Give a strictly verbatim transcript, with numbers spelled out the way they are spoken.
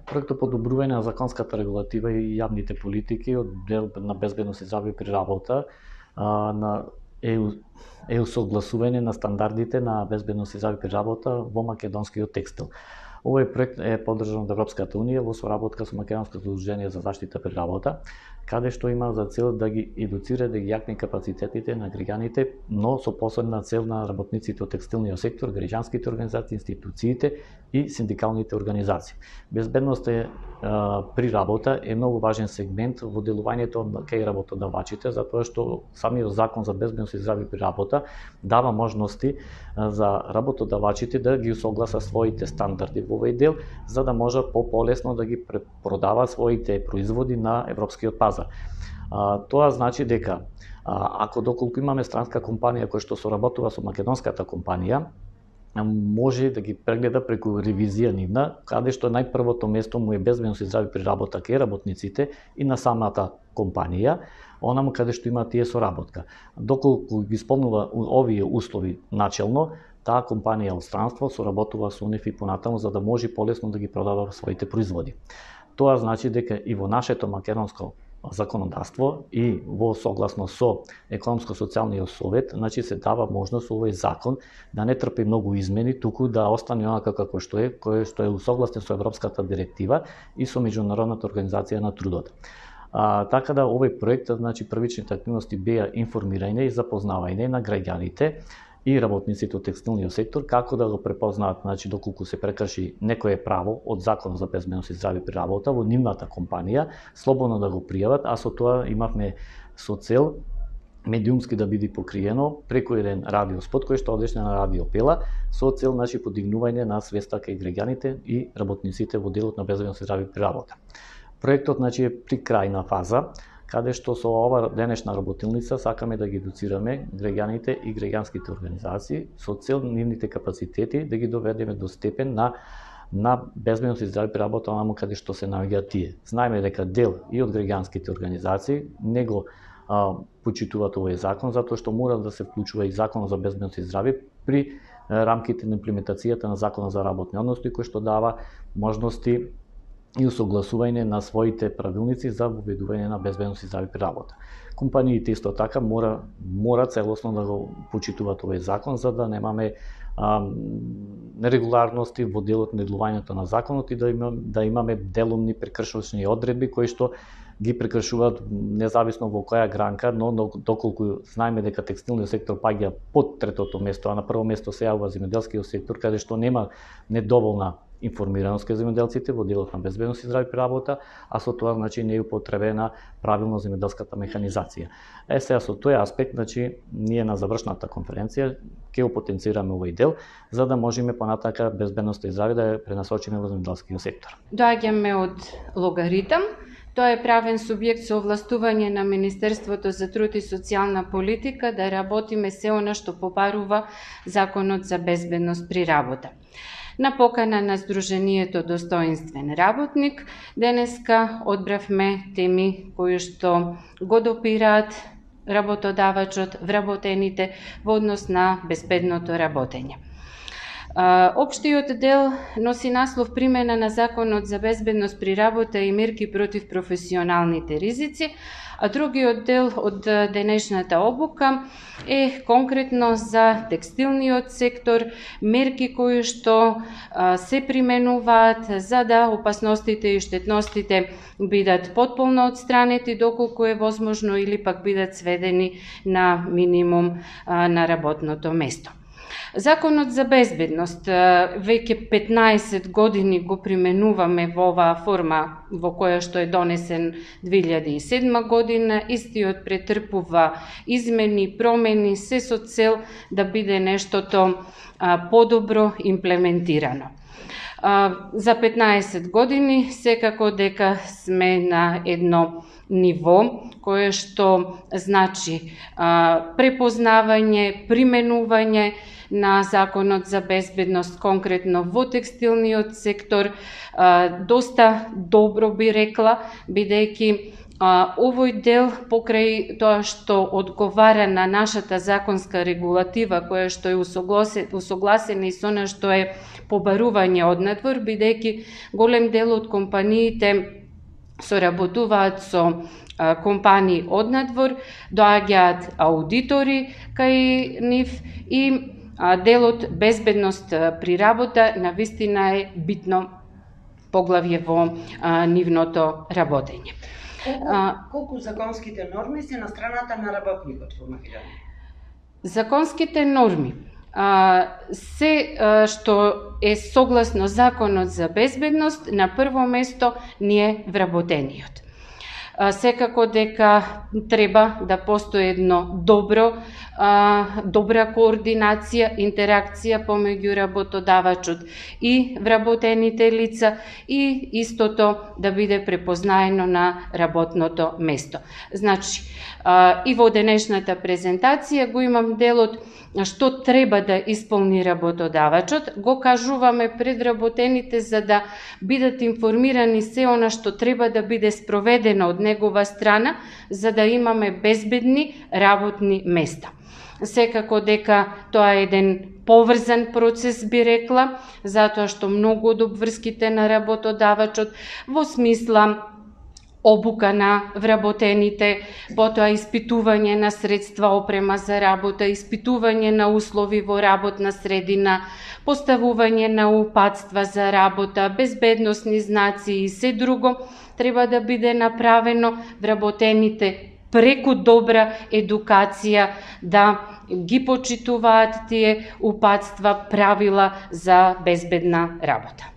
Проектот подобрување на законската регулатива и јавните политики од дел на безбедност и здравје при работа на ЕУ, ЕУ согласување на стандардите на безбедност и здравје при работа во македонскиот текстил. Овој проект е поддржан од Европската унија во соработка со Македонското удружение за заштита при работа, каде што има за цел да ги едуцира, да ги јакне капацитетите на граѓаните, но со посебна цел на работниците од текстилниот сектор, граѓанските организации, институциите и синдикалните организации. Безбедноста е, а, при работа е многу важен сегмент во делувањето кај работодавачите, затоа што самиот закон за безбедност и здравје при работа дава можности а, за работодавачите да ги усогласа своите стандарди во овој дел, за да може по-полесно да ги продава своите производи на европскиот пазар. А, тоа значи дека а, ако доколку имаме странска компанија која што соработува со македонската компанија, може да ги прегледа преку ревизија нивна, каде што најпрвото место му е безбедност и здравје при работа кај работниците и на самата компанија, онаму каде што има тие соработка. Доколку ги исполнува овие услови начелно, таа компанија од странство соработува со нив и понатаму за да може полесно да ги продава своите производи. Тоа значи дека и во нашето македонско законодавство и во согласно со економско-социјалниот совет, значи се дава можност овој закон да не трпи многу измени, туку да остане онака како што е, кој што е усогласен со Европската директива и со Меѓународната организација на трудот. А, така да овој проект, значи првичните активности беа информирање и запознавање на граѓаните и работниците од текстилниот сектор како да го препознаат, значи доколку се прекрши некое право од Законот за безбедност и здравје при работа во нивната компанија, слободно да го пријават, а со тоа имавме со цел медиумски да биде покриено преку еден радиоспот кој што одеше на радио Пела со цел значи подигнување на свеста кај граѓаните и работниците во делот на безбедност и здравје при работа. Проектот значи е при крајна фаза, каде што со ова денешна работилница сакаме да ги едуцираме граѓаните и граѓанските организации со цел нивните капацитети да ги доведеме до степен на на безбедност и здравје при работа онаму каде што се наоѓаат тие. Знаеме дека дел и од граѓанските организации не го а, почитуваат овој закон затоа што мора да се вклучува и Законот за безбедност и здравје при а, рамките на имплементацијата на Законот за работни односи кој што дава можности и усогласување на своите правилници за воведување на безбедност и здравје при работа. Компаниите исто така мора мора целосно да го почитуваат овој закон за да немаме а, нерегуларности во делот на делувањето на законот и да имаме да имаме делумни прекршочни одредби кои што ги прекршуваат независно во која гранка, но доколку знаеме дека текстилниот сектор паѓа под третото место, а на прво место се јавува земјоделскиот сектор, каде што нема недоволна информираност кај земјоделците во делот на безбедност и здравје при работа, а со тоа значи не е употребена правилно земјоделската механизација. Е сега со тој аспект, значи ние на завршната конференција ќе го потенцираме овој дел за да можеме понатака безбедноста и здравје да ја пренасочиме во земјоделскиот сектор. Доаѓаме од Логаритам. Тоа е правен субјект со овластување на Министерството за труд и социјална политика да работиме се она што побарува Законот за безбедност при работа. На покана на Сдруженијето Достоинствен работник, денеска одбравме теми кои што го допираат работодавачот, вработените во однос на безбедното работење. Општиот дел носи наслов примена на Законот за безбедност при работа и мерки против професионалните ризици, а другиот дел од денешната обука е конкретно за текстилниот сектор, мерки кои што се применуваат за да опасностите и штетностите бидат потполно отстранети доколку е возможно или пак бидат сведени на минимум на работното место. Законот за безбедност веќе петнаесет години го применуваме во оваа форма во која што е донесен две илјади и седма година. Истиот претрпува измени, промени, се со цел да биде нештото подобро имплементирано. За петнаесет години секако дека сме на едно ниво кое што значи препознавање, применување на Законот за безбедност, конкретно во текстилниот сектор, доста добро би рекла, бидејќи А, овој дел, покрај тоа што одговара на нашата законска регулатива, која што е усогласена и со она што е побарување од надвор, бидејќи голем дел од компаниите соработуваат со а, компании од надвор, доаѓаат аудитори кај нив и а, делот безбедност при работа навистина е битно поглавје во а, нивното работење. Колку, а, колку законските норми се на страната на работникот во Македонија? Законските норми а, се а, што е согласно Законот за безбедност, на прво место ни е вработениот. А, секако дека треба да постои едно добро, а, добра координација, интеракција помеѓу работодавачот и вработените лица и истото да биде препознаено на работното место. Значи, а, и во денешната презентација го имам делот што треба да исполни работодавачот, го кажуваме пред работените за да бидат информирани се она што треба да биде спроведено од негова страна, за да имаме безбедни работни места. Секако дека тоа е еден поврзан процес, би рекла, затоа што многу од обврските на работодавачот во смисла обука на вработените, потоа испитување на средства, опрема за работа, испитување на услови во работна средина, поставување на упатства за работа, безбедносни знаци и се друго, треба да биде направено вработените преку добра едукација да ги почитуваат тие упатства, правила за безбедна работа.